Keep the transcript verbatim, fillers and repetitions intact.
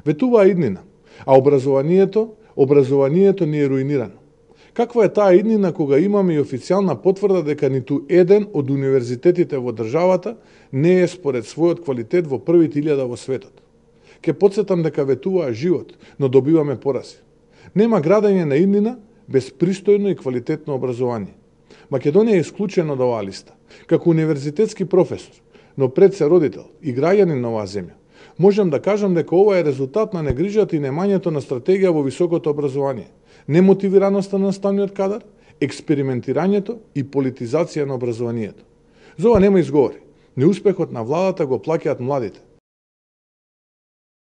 Ветуваа иднина, а образованието, образованието ни е руинирано. Каква е таа иднина кога имаме и официјална потврда дека ниту еден од универзитетите во државата не е според својот квалитет во првите илјада во светот? Ке подсетам дека ветуваа живот, но добиваме порази. Нема градење на иднина без пристојно и квалитетно образование. Македонија е исклучена од оваа листа. Како универзитетски професор, но пред се родител и граѓанин на оваа земја, можам да кажам дека ова е резултат на негрижата и немањето на стратегија во високото образование, немотивираноста на наставниот кадар, експериментирањето и политизација на образованието. За ова нема изговори. Неуспехот на владата го плаќаат младите.